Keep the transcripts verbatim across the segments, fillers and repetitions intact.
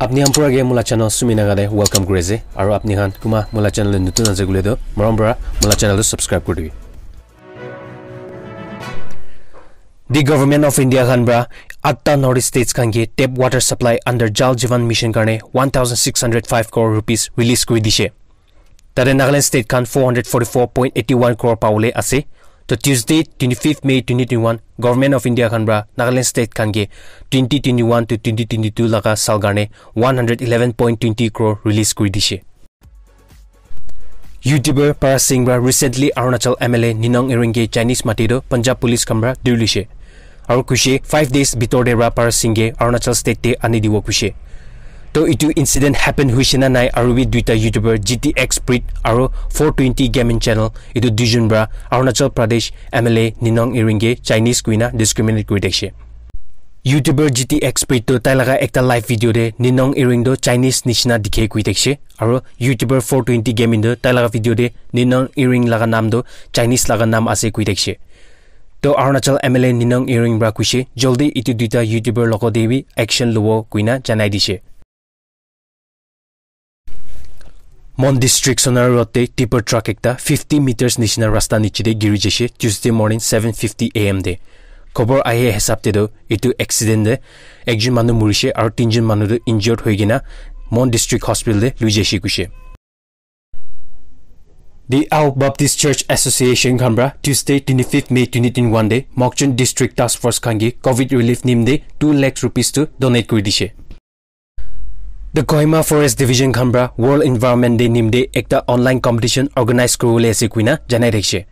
Apni khan pura ke mula channel Sumi Naga de welcome kuri ase. Aru apni khan kuma mula channel de nutun ase koile toh, morom para mula channel tu subscribe kuri dibi. The Government of India khan para atta North East states khan ke tap water supply under Jal Jeevan Mission karne one thousand six hundred five crore rupees release kuri dishe. Tate Nagaland state khan four hundred forty-four point eighty-one crore pawole ase. To Tuesday, twenty-fifth May twenty twenty-one, Government of India khan para Nagaland state khan ke twenty twenty-one to twenty twenty-two laga sal karne one hundred eleven point twenty crore release kuri dishe. YouTuber Paras Singh para recently Arunachal M L A Ninong Ering ke Chinese mati toh Punjab police khan para duri luishe. Aru kuishe five days bitor te para Paras Singh ke Arunachal state te ani dibo kuishe. To itu incident happen huishe na nai aru bi duita YouTuber G T X Breed aru four twenty Gaming Channel itu duijun para Arunachal Pradesh M L A Ninong Ering ke Chinese kuina discriminate kuri thakishe. YouTuber G T X Breed to tai laga ekta live video te Ninong Ering to Chinese nishina dikhe kuri thakishe. Aru YouTuber four twenty Gaming to tai laga video te Ninong Ering laga nam to Chinese laga nam ase kuri thakishe. To Arunachal M L A Ninong Ering para kuishe, "Jaldi itu duita YouTuber logot te bi action lobo," kuina janai dishe. Mon District Sonar Road te tipper truck ekta fifty meters nishina rasta niche te giri jaishe Tuesday morning seven fifty A M te. Khobor ahi hisab te toh itu accident te ekjon manu murishe aru tinjon manu toh injured hoi kena Mon District Hospital te lui jaishe kuishe. The Ao Baptist Church Association khan para Tuesday twenty-fifth May twenty twenty-one te Mokokchung District Task Force khan ke covid relief nimde two lakh rupees tu donate kuri dishe. The Kohima Forest Division khan para World Environment Day nimde ekta online competition organize kuribole ase kuina janai rakhishe.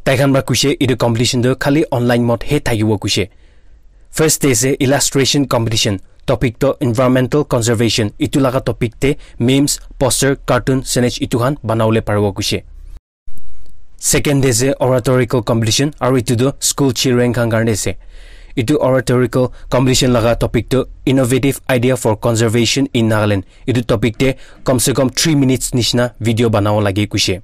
Tai khan para kuishe itu competition tu khali online mode he thakibo kuishe. First te ase illustration competition, topic to environmental conservation, itu laga topic te memes, poster, cartoon, signage itu khan banabole paribo kuishe. Second te ase oratorical competition, aru itu tu school children khan karne ase. Itu oratorical competition laga topic tu innovative idea for conservation in Nagaland. Itu topic te kam se kam three minutes nishina video banabo lage kuishe.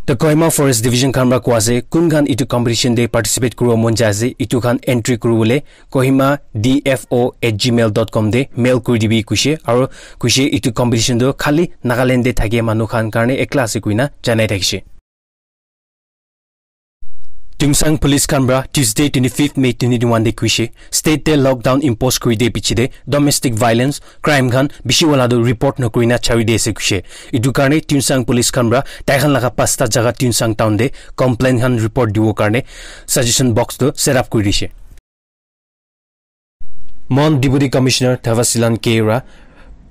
The Kohima Forest Division khan para koa ase, kun khan itu competition te participate kuribo mon jai ase, itu khan entry kuribole kohima D F O at gmail dot com te mail kuri dibi kuishe, aru kuishe itu competition tu khali Nagaland te thake manu khan karne ekla ase kuina janai thakishe. Tuensang Police khan para Tuesday twenty-fifth May twenty twenty-one te kuishe, state te lockdown impose kuri de piche te domestic violence, crime khan bishi wala tu report nokuri na chari de ase kuishe. Itu karne Tuensang Police khan para tai khan laga pasta jaga Tuensang town te complaint khan report dibo karne suggestion box tu set up kuri dishe. Mon Deputy Commissioner Thavatsilan K para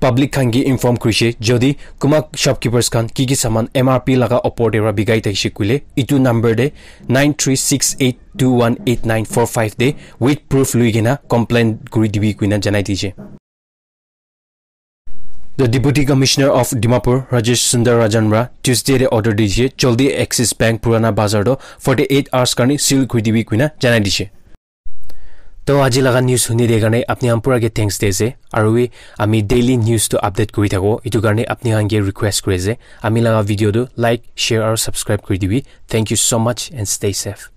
public khan ke inform kurishe, jodi kunba shopkeepers khan ki ki saman M R P laga opor te para bikai thakishe koile, itu number te nine three six eight two one eight nine four five te with proof lui kena complaint kuri dibi kuina janai dishe. The Deputy Commissioner of Dimapur, Rajesh Sundar Rajan para Tuesday te order di dishe, jaldi Axis Bank Purana Bazar to forty-eight hours karne seal kuri dibi kuina janai dishe. To aji laga news huni de karne apni khan pura ke thanks de ase. Aru wi ami daily news to update kuri thako. Itu karne apni khan ke request kuri ase. Ami laga video to like, share aru subscribe kuri dibi. Thank you so much and stay safe.